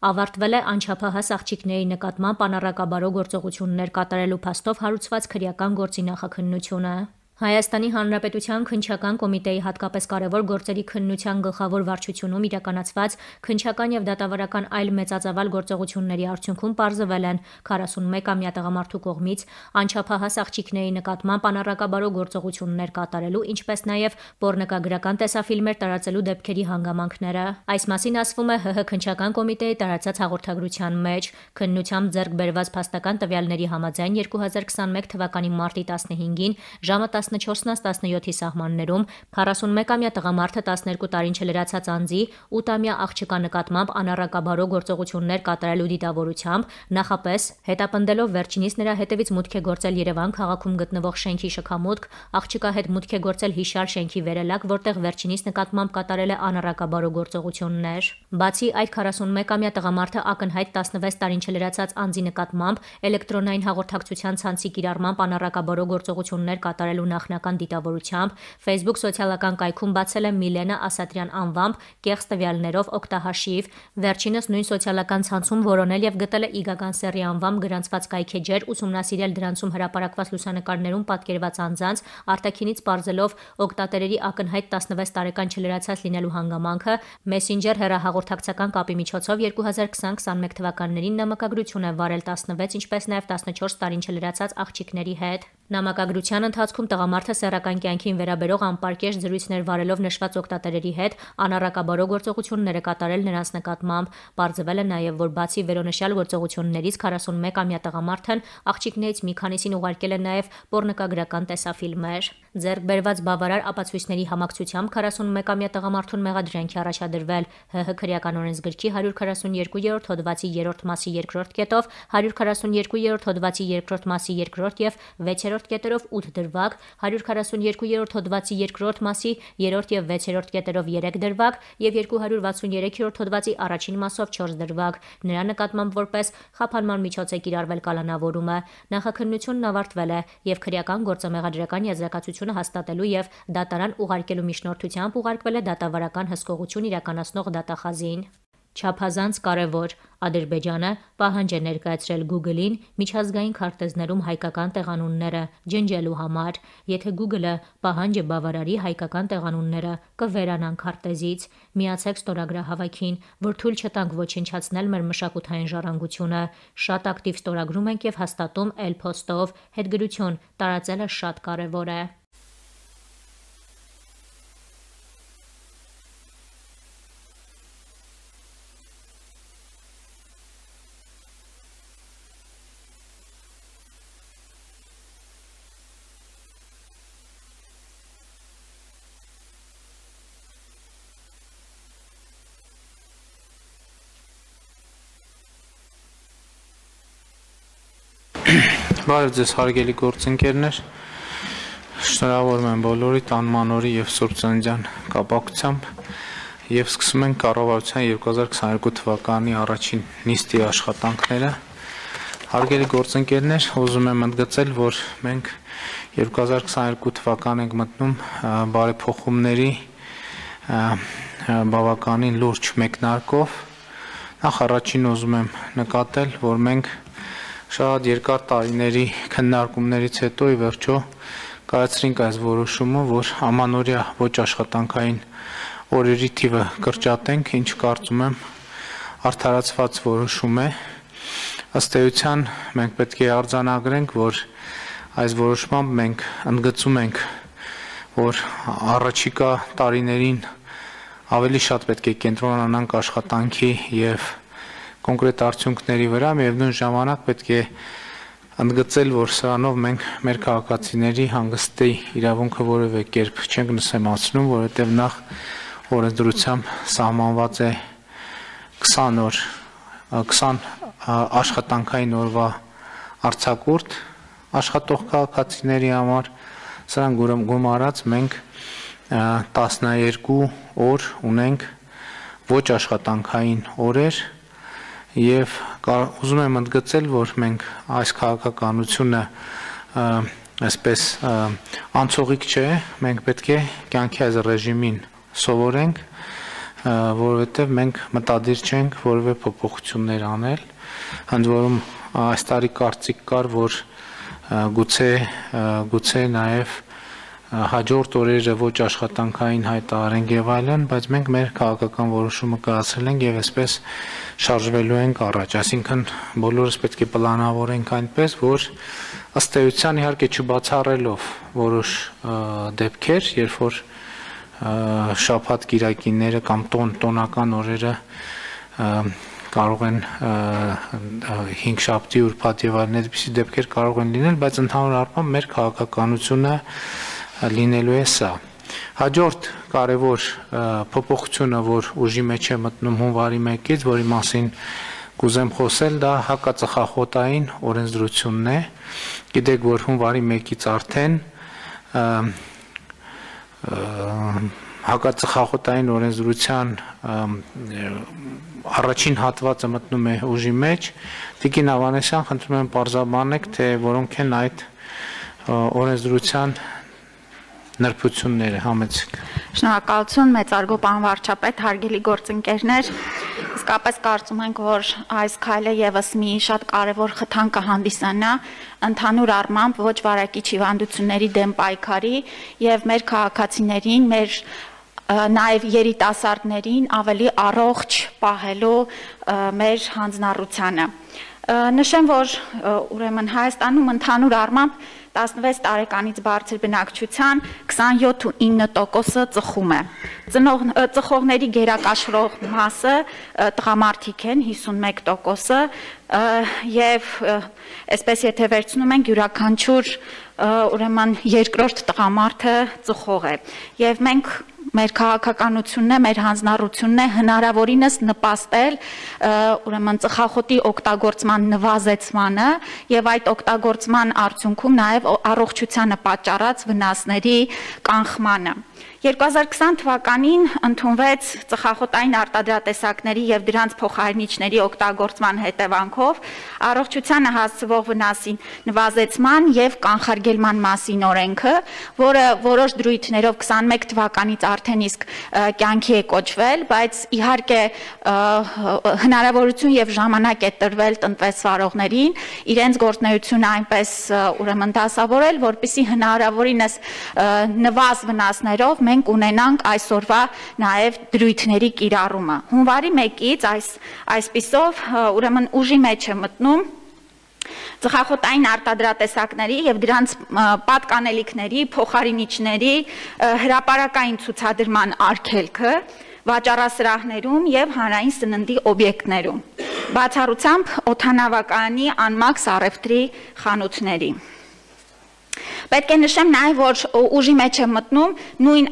Ավարտվել է անչափահաս աղջիկների նկատմամբ անառակաբարո գործողություններ կատարելու փաստով հարուցված քրեական գործի նախաքննությունը։ Հայաստանի Հանրապետության Քննչական կոմիտեի հատկապես կարևոր գործերի քննության գլխավոր վարչությունում իրականացված քննչական և դատավարական այլ մեծածավալ գործողությունների արդյունքում պարզվել են 41-ամյա տղամարդու կողմից անչափահաս աղջիկների նկատմամբ անառակաբարո գործողություններ կատարելու, ինչպես նաև պոռնոգրական տեսաֆիլմեր տարածելու դեպքերի հանգամանքները։ Այս մասին ասվում է ՀՀ Քննչական կոմիտեի տարածած հաղորդագրության մեջ։ Քննությամբ ձեռք բերված փաստական տվյալների համաձայն 2021 թվականի մարտի 15-ին ժամը 14:17-ի սահմաններում 41-ամյա տղամարդը 12 տարին չլրացած անձի 8-ամյա աղջկա նկատմամբ անառակաբարո գործողություններ կատարելու դիտավորությամբ նախապես հետապնդելով վերջինիս նրա հետևից մուտք է գործել Երևան քաղաքում գտնվող շենքի շքամուտք, աղջկա հետ մուտք է գործել հիշյալ շենքի վերելակ, որտեղ վերջինիս նկատմամբ կատարել է անառակաբարո գործողություններ։ Բացի այդ 41-ամյա տղամարդը ակնհայտ 16 տարին չլրացած անձի նկատմամբ էլեկտրոնային հաղորդակցության ցանցի կիրառմամբ անառակաբարո գործողություններ կատարելու նախնական դիտավորությամբ Facebook սոցիալական կայքում բացել է Միլենա Ասատրյան անվամբ կեղծ տվյալներով օգտահաշիվ։ Վերջինս նույն սոցիալական ցանցում որոնել և գտել է Իգական Սեռի անվամբ գրանցված կայքէջեր, ուսումնասիրել դրանցում հրապարակված լուսանկարներում պատկերված անձանց, արտաքինից պարզելով օգտատերերի ակնհայտ 16 տարեկան չլրացած լինելու հանգամանքը, Messenger հեռահաղորդակցական կապի միջոցով 2020-21 թվականներին նամակագրություն է վարել 16, ինչպես նաև 14 տարին չլրացած աղջիկների հետ։ Նամակագրության ընթացքում տղամարդը սեռական կյանքին վերաբերող անպարկեշտ զրույցներ վարելով նշված օգտատերերի հետ անառակաբարո գործողություններ է կատարել նրանց նկատմամբ։ Պարզվել է նաև, որ բացի վերոնշյալ գործողություններից 41-ամյա տղամարդն աղջիկներից մի քանիսին ուղարկել է նաև պոռնոգրական տեսաֆիլմեր։ Ձեռք բերված բավարար ապացույցների համակցությամբ 41-ամյա տղամարդուն մեղադրանքի առաջադրվել ՀՀ քրեական օրենսգրքի 142-րդ հոդվածի 3-րդ մասի 2-րդ կետով, 142-րդ հոդվածի 2-րդ մասի 2-րդ և 6-րդ կետերով 8 դրվագ, 142-րդ հոդվածի 2-րդ մասի 3-րդ և 6-րդ կետերով 3 դրվագ և 263-րդ հոդվածի առաջին մասով 4 դրվագ։ Նրա նկատմամբ որպես խափանման միջոց է կիրառվել կալանավորումը։ Նախաքննությունն ավարտվել է և քրեական գործը մեղադրական եզրակացությունը հաստատելու և դատարան ուղարկելու միջնորդությամբ ուղարկվել է դատավարական հսկողություն իրականացնող դատախազին։ Չափազանց կարևոր։ Ադրբեջանը պահանջ է ներկայացրել Google-ին միջազգային քարտեզներում հայկական տեղանունները ջնջելու համար։ Եթե Google-ը պահանջը բավարարի, հայկական տեղանունները կվերանան քարտեզից։ Միացեք ստորագրահավաքին, որ թույլ չտանք ոչնչացնել մեր մշակութային ժառանգությունը։ Շատ ակտիվ ստորագրում ենք և հաստատում Էլ-Փոստով։ Հետգրություն տարածելը շատ կարևոր է։ Բարև ձեզ հարգելի գործընկերներ, շնորհավորում եմ բոլորիդ անմանորի և Սուրբ Ծննդյան կապակցությամբ և սկսում ենք կառավարության 2022 թվականի առաջին նիստի աշխատանքները։ Հարգելի գործընկերներ, ուզում եմ ընդգծել, որ մենք 2022 թվական ենք մտնում բարեփոխումների բավականին լուրջ մեկնարկով։ Նախ առաջին ուզում եմ նկատել, որ մենք շատ երկար տարիների քննարկումներից հետո ի վերջո կայացրինք այս որոշումը, որ ամանորյա ոչ աշխատանքային օրերի թիվը կրճատենք, ինչ կարծում եմ արդարացված որոշում է։ Ըստ էության մենք պետք է արձանագրենք, որ այս որոշմամբ մենք ընդգծում ենք, որ առաջիկա տարիներին ավելի շատ պետք է կենտրոնանանք աշխատանքի և կոնկրետ արդյունքների վրա, միևնույն ժամանակ պետք է ընդգծել, որ սրանով մենք մեր քաղաքացիների հանգստի իրավունքը որևէ կերպ չենք նսեմացնում, որովհետև նախ օրենսդրությամբ սահմանված է 20 աշխատանքային օրվա արձակուրդ աշխատող քաղաքացիների համար, սրան գումարած մենք 12 օր ունենք ոչ աշխատանքային օրեր և ուզում եմ ընդգծել, որ մենք այս քաղաքականությունը այսպես անցողիկ չէ, մենք պետք է կյանքի այս ռեժիմին սովորենք, որովհետև մենք մտադիր չենք որևէ փոփոխություններ անել, ընդ որում այս տարի կարծիք կար, որ գուցե նաև հաջորդ օրերը ոչ աշխատանքային հայտարարենք եւ այլն, բայց մենք մեր քաղաքական որոշումը կայացրել ենք եւ այսպես շարժվելու ենք առաջ, այսինքն բոլորս պետք է պլանավորենք այնպես, որ ըստ էության իհարկե չբացառելով որոշ դեպքեր, երբ որ շաբաթ կիրակիները կամ տոնական օրերը կարող են 5 շաբթի ուրբաթ եւ այլն այդպիսի դեպքեր կարող են լինել, բայց ընդհանուր առմամբ մեր քաղաքականությունը լինելու է սա։ Հաջորդ կարևոր փոփոխությունը, որ ուժի մեջ է մտնում հունվարի 1-ից, որի մասին կուզեմ խոսել, դա հակածխախոտային օրենսդրությունն է։ Գիտեք, որ հունվարի 1-ից արդեն հակածխախոտային օրենսդրության առաջին հատվածը մտնում է ուժի մեջ։ Տիկին Ավանեսյան, խնդրում եմ պարզաբանեք, թե որոնք են այդ օրենսդրության նրբությունները, համեցեք։ Շնորհակալություն, մեծարգո պարոն վարչապետ, հարգելի գործընկերներ, իսկապես կարծում ենք, որ այս քայլը եւս մի շատ կարևոր խթան կհանդիսանա ընդհանուր առմամբ ոչ վարակիչ հիվանդությունների դեմ պայքարի եւ մեր քաղաքացիներին, մեր նաև երիտասարդներին ավելի առողջ պահելու մեր հանձնառությանը։ Նշեմ, որ ուրեմն Հայաստանում ընդհանուր առմամբ 16 տարեկանից բարձր բնակչության 27.9%-ը ծխում է։ Ծխողների գերակաշռող մասը տղամարդիկ են 51%-ը եւ այսպես եթե վերցնում ենք յուրաքանչյուր ուրեմն երկրորդ տղամարդը ծխող է։ Եվ մենք մեր քաղաքականությունն է, մեր հանձնառությունն է հնարավորինս նպաստել ուրեմն ծխախոտի օգտագործման նվազեցմանը եւ այդ օգտագործման արդյունքում նաեւ առողջությանը պատճառած վնասների կանխմանը։ 2020 թվականին ընդունվեց ծխախոտային արտադրատեսակների եւ դրանց փոխարինիչների օգտագործման հետևանքով առողջությանը հասցվող վնասի նվազեցման եւ կանխարգելման մասին օրենքը, որը որոշ դրույթներով 21 թվականից արդեն իսկ կյանքի է կոչվել, բայց իհարկե հնարավորություն եւ ժամանակ է տրվել տնտեսվարողներին իրենց գործունեությունը այնպես ուրեմն դասավորել, որպեսզի հնարավորինս նվազ վնասներով մենք ունենանք այսօրվա նաև դրույթների կիրառումը։ Հունվարի 1-ից այսպիսով ուրեմն ուժի մեջ է մտնում ծխախոտային արտադրատեսակների եւ դրանց պատկանելիքների, փոխարինիչների հրապարակային ցուցադրման արգելքը վաճառասրահներում եւ հանրային սննդի օբյեկտներում, բացառությամբ օդանավակայանի անմաքս առևտրի խանութների։ Պետք է նշեմ նաև, որ ուժի մեջ է մտնում նույն